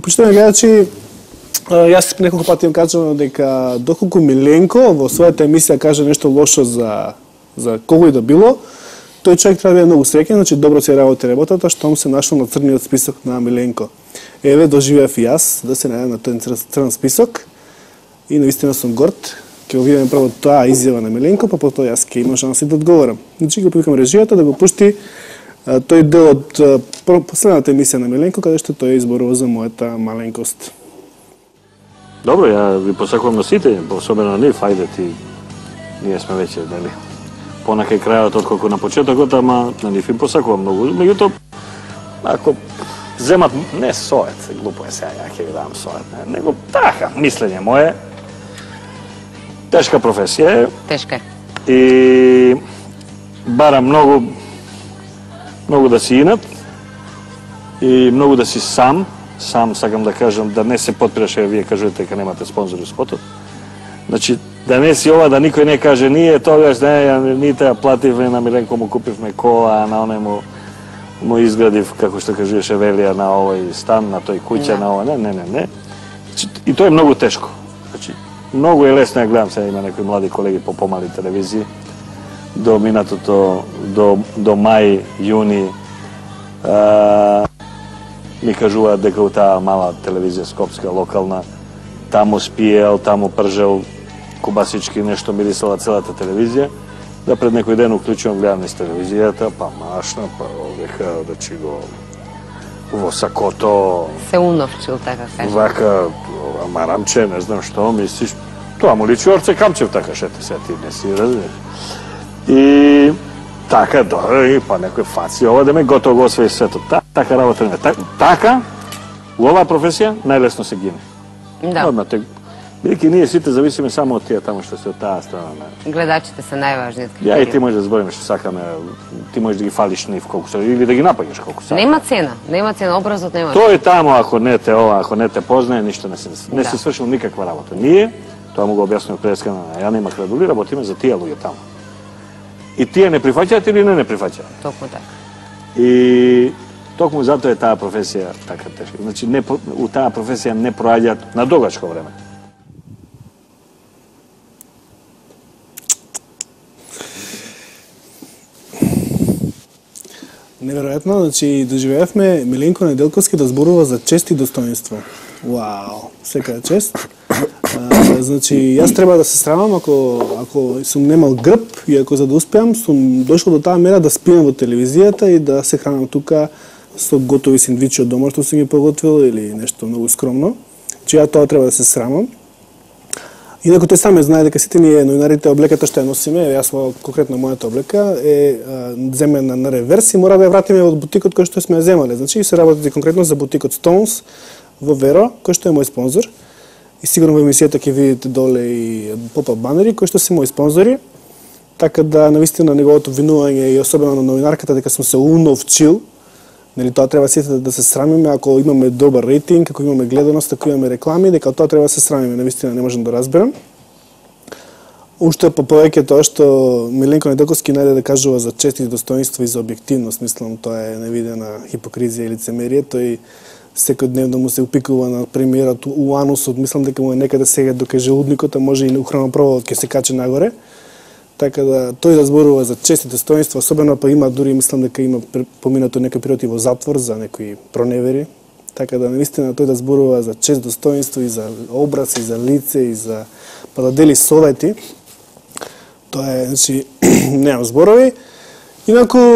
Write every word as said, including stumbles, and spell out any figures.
Почитувани гледачи, јас неколку пати им кажувам дека доколку Миленко во својата емисија каже нешто лошо за за кого и да било, тој човек треба да биде многу среќен, значи добро си работи работата, што му се нашол на црниот список на Миленко. Еве доживеав и јас да се најдам на тој црн список и навистина сум горд. Ќе го видиме прво таа изјава на Миленко, па потоа јас ќе имам шанси да одговорам. Значи ќе повикам режијата да го пушти тој дел од последната емисија на Миленко, каде што тој изборува за мојата маленкост. Добро, ја ви посакувам на сите, особено на нив, ајде ти, ние сме веќе, нели, понакај крајот отколку на почетокот, ама на нив им посакувам многу. Меѓутоа, ако земат, не совет, глупо е сега, ја ќе ви дам совет, не, него така, мислење мое, тешка професија е. Тешка е. И бара многу, многу да си инат и многу да си сам. Сам сакам да кажам да не се подпираш, вие кажувате дека немате спонзори спотот. Значи, да не си ова, да никој не каже ние тогаш, не, ние ја плативме, на Миленко му купивме кола, на оне му, му изградив, како што кажуваше Велија, на овој стан, на тој куќа, на ова, не, не, не, не. Значи, и тоа е многу тешко. Значи, многу е лесно, ја гледам сега има некои млади колеги по помали телевизии, до минатото, до, до мај, јуни, а, ми кажуваат дека у таа мала телевизија скопска, локална, таму спиел, таму пржел, кубасички, нешто мирисала целата телевизија, да пред некој ден уклучувам, гледам низ телевизијата, па машна, па века да чи го во сакото... Се уновчил, така кажа. Вака, марамче, не знам што, мислиш, тоа му личи Орце Камчев, така шете се, ти не си разбираш. И... Така, добро, и па некој фаци, ова да ме готово го освои светот. Та, така работа не. Та, така, у оваа професија, најлесно се гине. Да. Одма, те, бидејќи ние сите зависиме само од тие таму што се од таа страна. Гледачите се најважни. Ја и ти можеш да збориме што сакаме, ти можеш да ги фалиш нив колку се, или да ги напаѓаш колку се. Нема цена, нема цена, образот нема. Тој таму, ако не те ова, ако не те познае, ништо не се не Да. се свршил никаква работа. Ние, тоа му го објаснувам предскана, ја нема крадули, работиме за тие луѓе таму. И тие не прифаќаат или не не прифаќаат. Токму така. И токму затоа е таа професија така тешка. Значи не у таа професија не проаѓаат на догачко време. Неверојатно, значи доживеавме Миленко Неделковски да зборува за чест и достоинство. Вау, секаја чест. А, значи, јас треба да се срамам ако ако сум немал грб и ако за да успеам сум дошол до таа мера да спиам во телевизијата и да се хранам тука со готови сендвичи од дома што сум ги поготвил или нешто многу скромно. Значи, ја тоа треба да се срамам. Инаку тој сам знае дека сите ние новинарите облеката што ја носиме, јас конкретно мојата облека е земена на реверс и мора да ја вратиме од бутикот кој што сме ја земале. Значи се работи конкретно за бутикот Stones во Веро, кој што е мој спонзор. И сигурно во емисијата ќе видите доле и поп-ап банери кои што се мои спонзори. Така да навистина неговото винување и особено на новинарката дека сум се уновчил. Нели тоа треба сите да се срамиме ако имаме добар рейтинг, ако имаме гледаност, ако имаме реклами, дека тоа треба да се срамиме, навистина не можам да разберам. Уште по повеќе тоа што Миленко Неделковски најде да кажува за чест и достоинство и за објективност, мислам тоа е невидена хипокризија и лицемерие. Тој секојдневно му се упикува на премиерот у анусот, мислам дека му е некаде сега дока желудникот, а може и у хранопроводот ќе се качи нагоре. Така да тој да зборува за чест и достоинство, особено па има дури мислам дека има поминато некој период и во затвор за некои проневери. Така да навистина тој да зборува за чест, достоинство и за образ и за лице и за па да дели совети. Тоа е, значи, немам зборови. Инаку